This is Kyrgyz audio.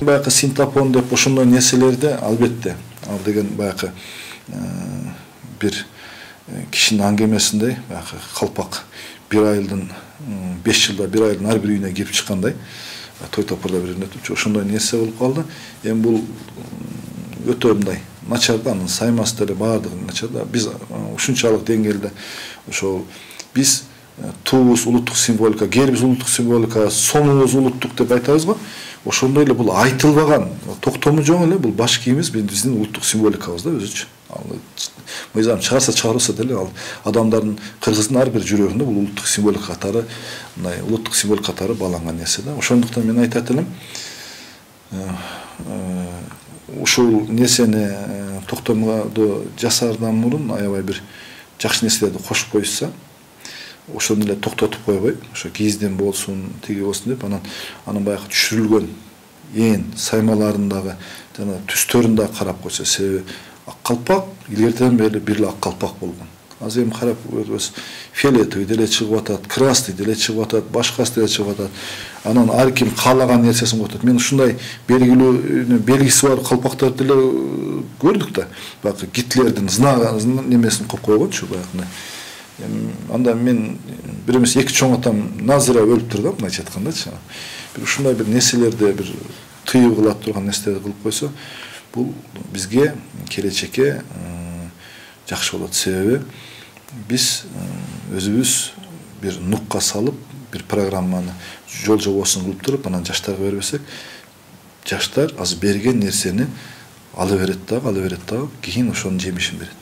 Баягы синтепон деп ошондой нерселерди албетте ал деген баягы бир кишинин аңгемесиндей баягы калпак 1 айылдын 5 жылда 1 айылдын ар бир үйүнө кирип чыккандай той топурда бир өтүп ошондой нерсе болуп калды. Эми бул өтө мындай начар да, анын саймасы деле баардыгы начар да. Биз ушунчалык деңгээлде ошол биз туубуз улуттук символика, гербиз улуттук символика, сонубуз улуттук деп айтабыз го. Ошондой эле бул айтылбаган, токтому жок эле бул баш кийимибиз биздин улуттук символикабыз да өзүчө. Мыйзам чыгарса чыгарылса деле ал адамдардын кыргыздын ар бир жүрөгүндө бул улуттук символика катары, мындай улуттук символика катары бааланган нерсе да. Ошондуктан мен айтат элем, ушул нерсени токтомдо жасаардан мурун аябай бир жакшы нерселерди кошуп коюшса, ошону эле токтотуп койбой, ошо киизден болсун, тиги болсун деп анын баягы түшүрүлгөн саймаларындагы жана түстөрүн да карап койсо, себеби ак калпак илгертен бери бир эле ак калпак болгон. Азыр эми карап көрөбүз, фиолетовый деле чыгып атат, красный деле чыгып атат, башкасы деле чыгып атат. Анан ар ким каалаган нерсесин коюп атат. Мен ушундай белгилүү белгиси бар калпактарды деле көрдүк да. Баягы Гитлердин немесин коюп койгончу баягы. Анда мен бир эмес эки чоң атам Назира өлүптүр да, мындайча айткандачы. Бир ушундай бир нерселерди бир тыюу кыла турган нерселерди кылып койсо, бул бизге келечекке жакшы болот. Себеби биз өзүбүз бир нукка салып, бир программаны жол жобосун кылып туруп, анан жаштарга бербесек, жаштар азыр берген нерсени ала берет дагы, кийин ошонун жемишин берет.